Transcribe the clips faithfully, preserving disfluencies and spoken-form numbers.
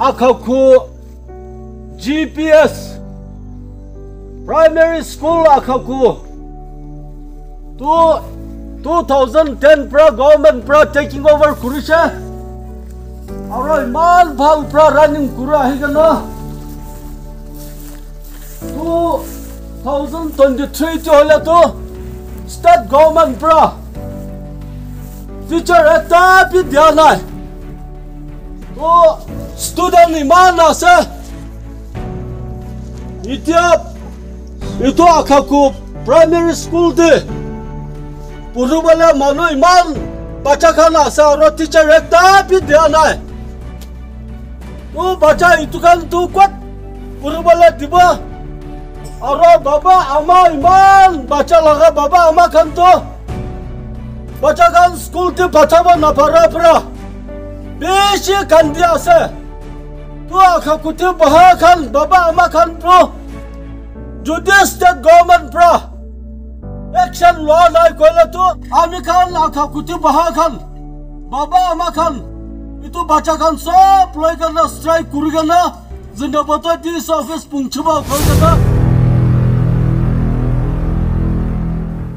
Akhaku G P S Primary School Akhaku tu two thousand ten pra government pra taking over kurishe. Aro iman bhal pra running kura ahi kena two thousand twenty-three ti hoile tu state government pra teacher ekta bi dia nai. To student iman ase. Itya itu Akhaku primary school te puribole manu iman bacha khan ase aro teacher ekta bi dia nai. To bacha itu khan tu kot puribole dibo? Aro baba ama iman bacha laga baba ama khan to bacha khan school te pathabo napara pura bishi kandi ase. Tu Akhaku te baha khan baba ama khan to jodi state government pra action loa nai koile tu ami khan Akhaku te baha khan baba ama khan itu bacha khan sob loi kena strike kuri kena Zindabad D C office pungchiba koi kena.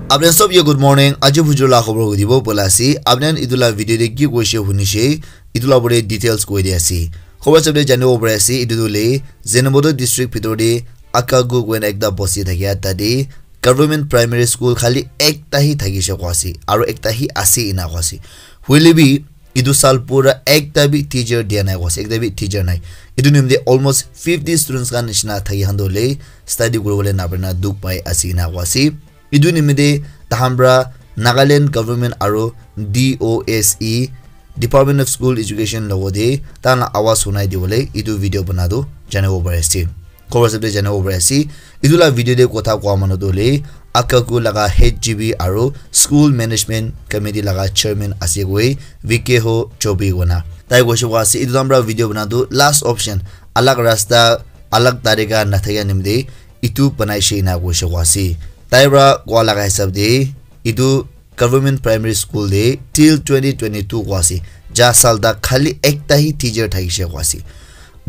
Apni sob ye good morning. Aji bujur la khobor hudibo bola ase. Apni itu la video de ki koise hunishe, itu la bore details koi de ase. Khobor sob de janibo pare ase, itu tu le Zindabad district bhitor de Akhaku koina ekta bosti thakia tate government primary school khali ekta hi thakishe koa ase, aro ekta hi ase ena koa ase. Hoile bi, itu sal pura ekta bi teacher dia nai koa ase, ekta bi teacher nai. Itu nimite almost fifty students khan nishina thaki khan toh hoile study kuribole naparina dukh pai ase ena koa ase. Itu nimite tahan pra Nagaland government aro D O S E, Department of School Education logote tahan la awaz sunai dibole itu video bana tu janibo pari ase. Khobor sob de janibo pari ase. Itu la video de kotha koa manu tu hoile Akhaku laga H G B aro School Management Committee laga chairman ase koi V K Ho Chobi kona. Tai koise koa ase, itu tahan pra video bana tu last option, alag rasta, alag tarika nathakia nimite itu banaishe ena koise koa ase. Tai pra koa laga hisab de itu government primary school de till twenty twenty-two koa ase. Ja sal tak khali ekta hi teacher thakishe koa ase.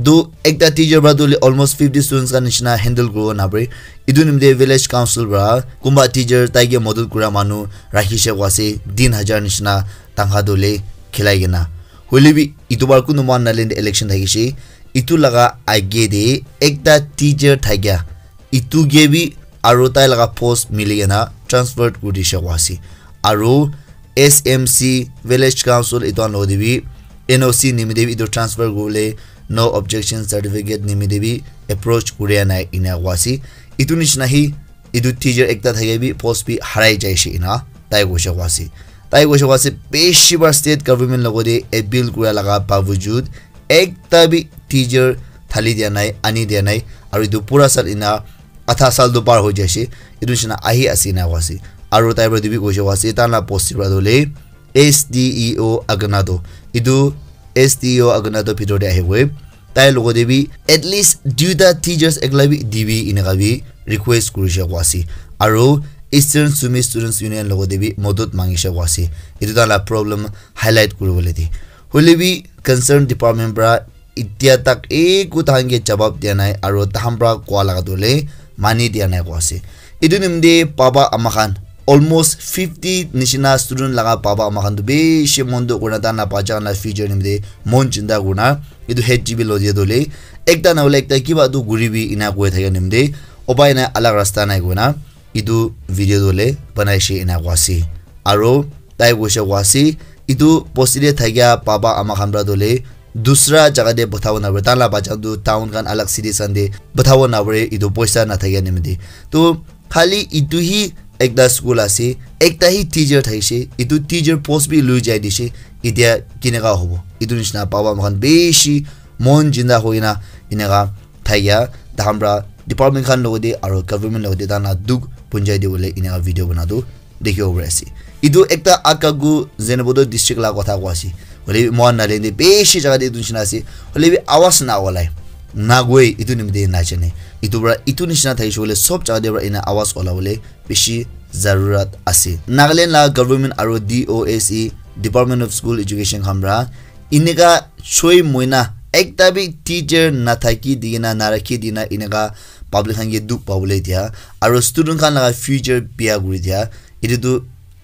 Tu ekta teacher pra tu almost fifty students khan nishina handle kuribo napare. Itu nimite village council pra kunba teacher taike madad kura manu rakhishe koa ase, tin hajar nishina tangkha tu le khilai kena. Hoile bi itu bar kunu mohan Nagaland election thakishe. Itu laga age de ekta teacher thakia itu ke bi aro tai laga post mili kena transfer kuri dishe koa ase. Aro S M C, Village Council, itu khan logote bi N O C nimite bi itu transfer kuribole no objection certificate nimite bi approach kuria nai ena koa ase. Itu nishina hi itu teacher ekta thakia bi post bi harai jaishe ena tai koise koa ase. Tai koise koa ase bishi bar state government logote appeal kura laga bawajud ekta bi teacher thali dia nai, ani dia nai, aro itu pura sal ena adha sal tu par hoi jaise, itu nishina ahi ase ena koa ase. Aro tai pra tu bi koise koa ase, tahan la post pra tu hoile S D E O Aganado, itu S D E O Aganado bhitor de ahi koi. Tai logote bi at least duita teachers ekla bi dibi eneka bi request kurishe koa ase. Aro Eastern Sumi Students Union logote bi madad mangishe koa ase. Itu tahan la problem highlight kuribole de. Hoile bi concern department pra itya tak eku tahan ke jawab dia nai aro tahan pra koa laga tu hoile mani dia nai koa ase. Itu nimite baba ama khan almost fifty nishina student laga baba ama khan tu bishi mon dukh kurina tahan la bacha khan la future nimite mon chinta kurina itu H G B lo dia tu hoile ekta na hoile ekta kiba tu kuribi ena koi thakia nimite upai nai, alag rasta nai koina itu video tu hoile banaishe ena koa ase. Aro tai koise koa ase, itu bosti de thakia baba ama khan pra tu hoile dusra jaga de pathabo napare, tahan la bacha tu town khan alag cities khan de pathabo napare, itu poisa nathakia nimite. To khali itu hi ekta school ase, ekta hi teacher thakishe, itu teacher post bi lui jai dishe, itya kineka hobo? Itu nishina baba ama khan bishi mon jinda hoina eneka thakia, tahan pra department khan logote aro government logote tahan la dukh punjai dibole eneka video bana tu dikhibo pari ase. Itu ekta Akhaku Zunheboto district la kotha koa ase. Hoile bi mohan Nagaland te bishi jaga te itu nishina ase. Hoile bi awaz na olai. Na goi itu nimite na jane. Itu pra itu nishina thakishe koile sob jaga te pra ena awaz olabole bishi zarurat ase. Nagaland la government aro D O S E, Department of School Education khan pra eneka choi moina Ekta bi teacher nathaki dikena, narakhi dikena, eneka public khan ke dukh pabole dia, aro student khan laga future bia kuri dia, etu tu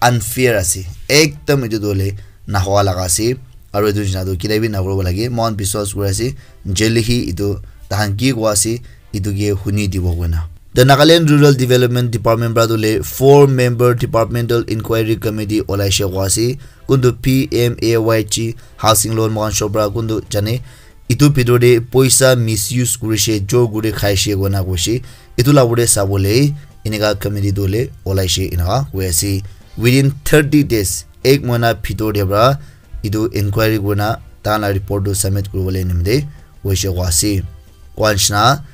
unfair ase. Ekdam etu tu hoile nahoa laga ase. Aro etu nishina tu ketia bi nakuribo lage. Moikhan biswas kuri ase, jail hi etu tahan ki koa ase, etu ke huni dibo koina. The Nagaland Rural Development Department pra tu le four member departmental inquiry committee olaishe koa ase. Kuntu P M A Y G housing loan moikhan shop pra kuntu jane, etu bhitor te poisa misuse kurishe, jor kuri khaishe koina koishe. Etu la opor te sabole eneka committee tu le olaishe eneka koi ase. Within thirty days, ek mahina bhitor te pra etu inquiry kurina tahan la report tu submit kuribole nimite hoishe koa ase. Koa nishina,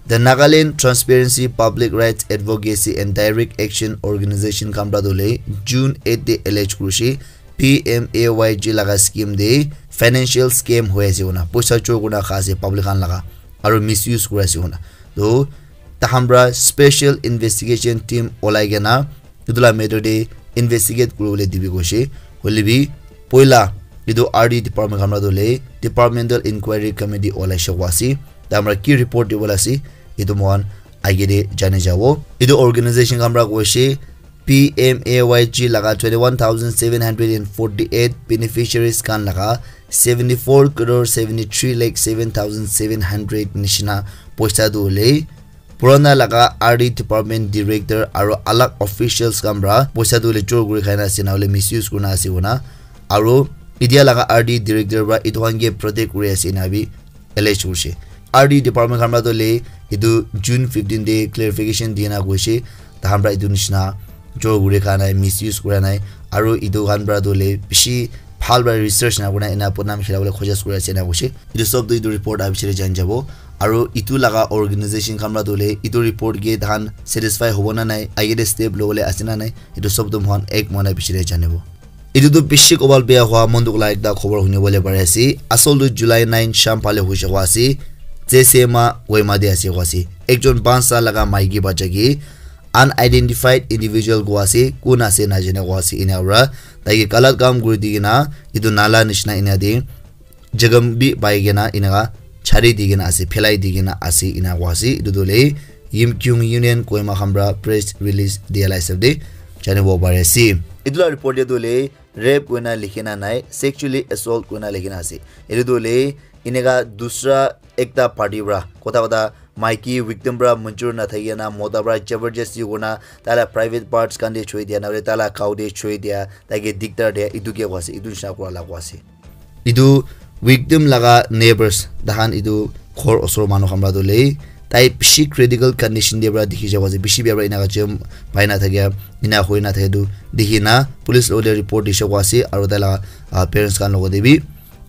the Nagaland Transparency Public Rights Advocacy and Direct Action Organization khan pra tu le June eight te allege kurishe P M A Y G laga scheme te financial scam hoi ase koina, poisa chor kurina kha ase public khan laga, aro misuse kuri ase koina. To tahan pra special investigation team olai kena etu la matter te investigate kuribole dibi koishe. Hoile bi poila etu R D department khan pra tu le departmental inquiry committee olaishe koa ase. Tahan pra ki report dibole ase, etu moikhan age te jani jabo. Etu organization khan pra koishe P M A Y G laga twenty-one thousand seven hundred and forty-eight beneficiaries khan laga seventy-four crore seventy-three lakh seven thousand seven hundred nishina poisa tu hoile purana laga R D department director aro alag officials khan pra poisa tu hoile chor kuri khaina ase, na hoile misuse kurina ase koina. Aro etia laga R D director pra etu khan ke protect kuri ase ena bi allege kurishe. R D department khan pra tu le etu June fifteen te clarification dina koishe, tahan pra etu nishina chor kuri kha nai, misuse kura nai, aro etu khan pra tu le bishi bhal pra research na kurina ena podnam khilabole khojaj kuri ase ena koishe. Etu sob tu etu report abichare jani jabo, aro etu laga organization khan pra tu le etu report ke tahan satisfy hobo na nai, age te step lobole ase na nai, etu sob tu moikhan ek mahina bichare janibo. Etu tu bishi kobal bia hua mon dukh la ekta khobor huni bole pari ase. Asol tu July nine sham phale hoishe koa ase. J C M A Kohima te ase koa ase. Ekjon panch sal laga maiki bacha ke unidentified individual koa ase, kun ase najane koa ase, ena para tai ke galat kam kuri di kena etu nala nishina ena te jagam bi pai kena eneka chari di kena ase, phelai di kena ase, ena koa ase. Etu tu hoile Yimkhiung Union Kohima khan para press release dia la hisab te janibo pari ase. Etu la report te tu hoile rape koina likhi na nai, sexually assault koina likhi na ase. Etu tu hoile eneka dusra ekta party para kotha kotha maiki victim para manjur na thaki na mota para jabardasti kurina tai la private parts khan te choi dia, na hoile tai la gao te choi dia, tai ke diktar dia, etu ke koa ase, etu nisna kura la koa ase. Etu victim laga neighbors, tahan etu ghor osor manu khan para tu hoile tai bishi critical condition te para dikhi jabo ase, bishi bia para eneka jam pai na thakia, ena hoi na thake tu dikhi na police logot te report dise koa ase, aru tai laga, ah, parents khan logot te bi,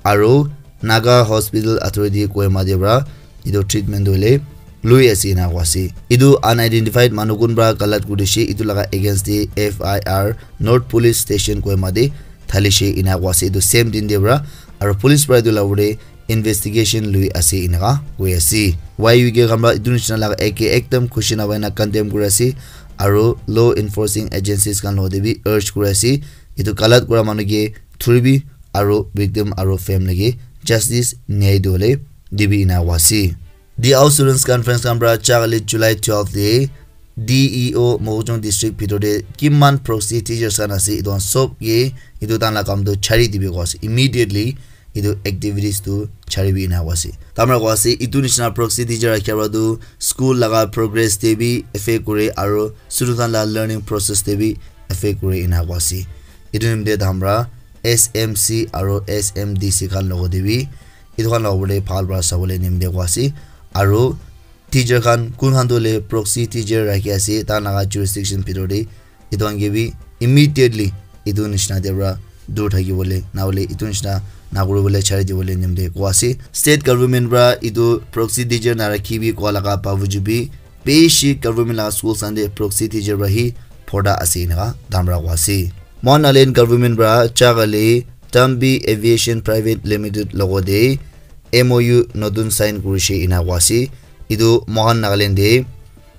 aru Naga Hospital Authority Kohima te para etu treatment tu hoile lui ase ena koa ase. Etu unidentified manu kun para galat kuri dise, etu laga against te F I R North Police Station Kohima te thalishe ena koa ase. Etu same din te para aru police para etu la opor te investigation lui ase eneka koi ase. Y U K khan para etu nisna laga ek ekdam khushi na hoina condemn kuri ase aru law enforcing agencies khan logot te bi urge kuri ase etu galat kura manu ke thuri bi aru victim aru family ke justice nyai dibole dibi ena koa ase. The Out Students Conference khan para cha kali July twelve te D E O Mokokchung District bhitor te kiman proxy teachers khan ase, etu khan sob ke etu tahan la kam tu chari dibi koa ase. Immediately etu activities tu chari bi ena koa ase. Tahan para koa ase, etu nisna proxy teacher rakhia para tu school laga progress te bi affect kure aru student khan la learning process te bi affect kure ena koa ase. Etu nimite tahan para S M C aru S M D C khan logot te bi etu khan la opor te bhal para sabole nimite koa ase. Aru teacher khan kun khan tu hoile proxy teacher rakhi ase, tahan laga jurisdiction bhitor te etu khan ke bi immediately etu nisna te para dur thaki bole, na hoile etu nisna na kuri bole chari dibole nimite koa ase. State government para etu proxy teacher na rakhi bi koa laga bawajud bi bishi government laga schools khan te proxy teacher para hi porda ase eneka tahan para koa ase. Mohan Nagaland government para cha kali Tambi Aviation Private Limited logot te M O U notun sign kurishe ena koa ase. Etu Mohan Nagaland te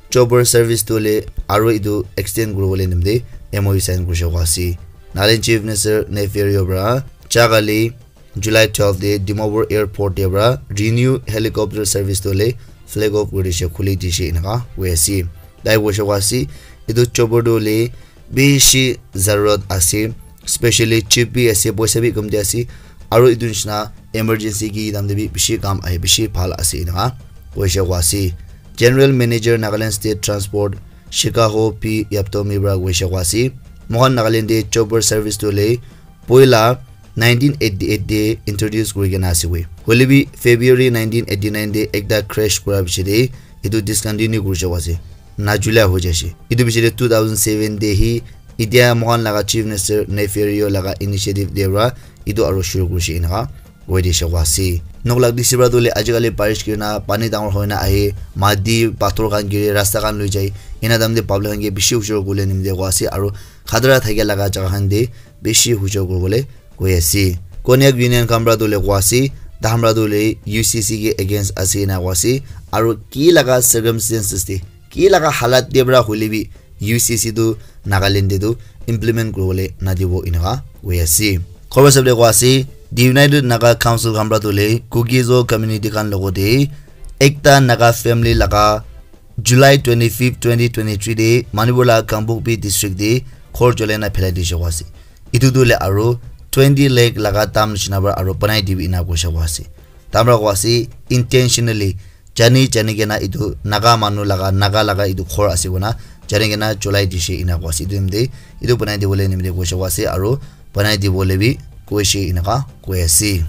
chopper service tu hoile aru etu extend kuribole nimite M O U sign kurishe koa ase. Nagaland Chief Minister Neiphiu Rio para cha kali July twelve te Dimapur airport te para renew helicopter service tu le flag off kuri dishe, khuli dishe enaka koi ase. Tai koishe koa ase, etu chopper tu le bishi zarurat ase, specially cheap bi ase, poisa bi kom te ase, aru etu nishina emergency ki time te bi bishi kam ahe, bishi bhal ase enaka koishe koa ase. General Manager Nagaland State Transport Shikaho P Yaptomi para koishe koa ase, moikhan Nagaland te chopper service tu le poila nineteen eighty-eight te introduce kuri kena ase we. Hoile bi February nineteen eighty-nine te ekta crash kura piche te etu discontinue kuri jabo ase. Najulia hoi jaise. Etu piche te two thousand seven te hi etia moikhan laga Chief Minister Neiphiu Rio laga initiative te para etu aru shuru kurishe enaka koi dishe koa ase. Nok lak disi para tu le ajikali barish kuri na pani dangor hoi na ahe, mati, pathor khan giri, rasta khan loi jai. Ena time te public khan ke bishi hujor kuri bole nimite koa ase aru khatara thakia laga jaga khan te bishi hujor kuri bole koi ase. Konyak Union khan para tu le koa ase, tahan para tu le U C C ke against ase ena koa ase. Aru ki laga circumstances te, ki laga halat te para hoile bi U C C tu Nagaland te tu implement kuri bole na dibo enaka koi ase. Khobor sab te koa ase, the United Naga Council khan para tu le Kuki-Zo community khan logot te ekta Naga family laga July twenty-fifth, twenty twenty-three te Manipur laga Kangpokpi district te ghor jolai na phelai dishe koa ase. Etu tu le aru twenty lakh laga dam nishina para aru banai dibi ena koishe koa ase. Tahan para koa ase, intentionally, jani jani kena etu Naga manu laga, Naga laga etu ghor ase koina jani kena jolai dishe ena koa ase. Etu nimite, etu banai dibole nimite koishe koa ase aru banai dibole bi koishe enaka koi ase.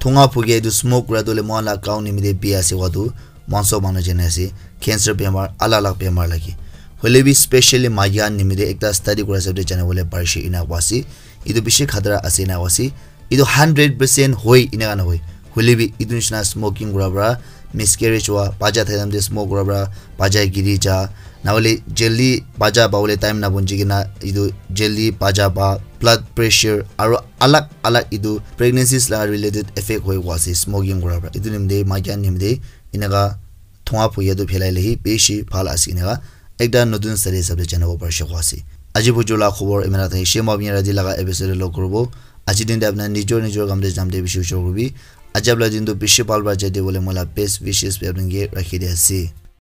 Thunga phukia etu smoke kura tu le moikhan la gaon nimite bi ase koa tu moikhan sob manu jane ase. Cancer bemar, alag alag bemar lage. Hoile bi specially maiki khan nimite ekta study kura hisab te jane bole parishe ena koa ase. Etu bishi khatara ase ena koa ase. Etu hundred percent hoi enaka nahoi. Hoile bi etu nishina smoking kura para miscarriage hua, bacha thai time te smoke kura para bacha giri ja, nahole jaldi bacha pabole time nabunji kena etu jaldi bacha pa, blood pressure aru alag alag etu pregnancies laga related effect hoi koa ase smoking kura para. Etu nimite maiki khan nimite enaka thunga phukia tu phelai le hi bishi bhal ase enaka ekta notun study hisab te janibo parishe koa ase. Aji bujur la khobor imana thakishe, moi apni rati laga episode te log kuribo. Aji din te apna nijor nijor kam te jam te bishi hujor kuribi. Aji apna din tu bishi bhal para jai dibole moi la best wishes bi apni ke rakhi di ase.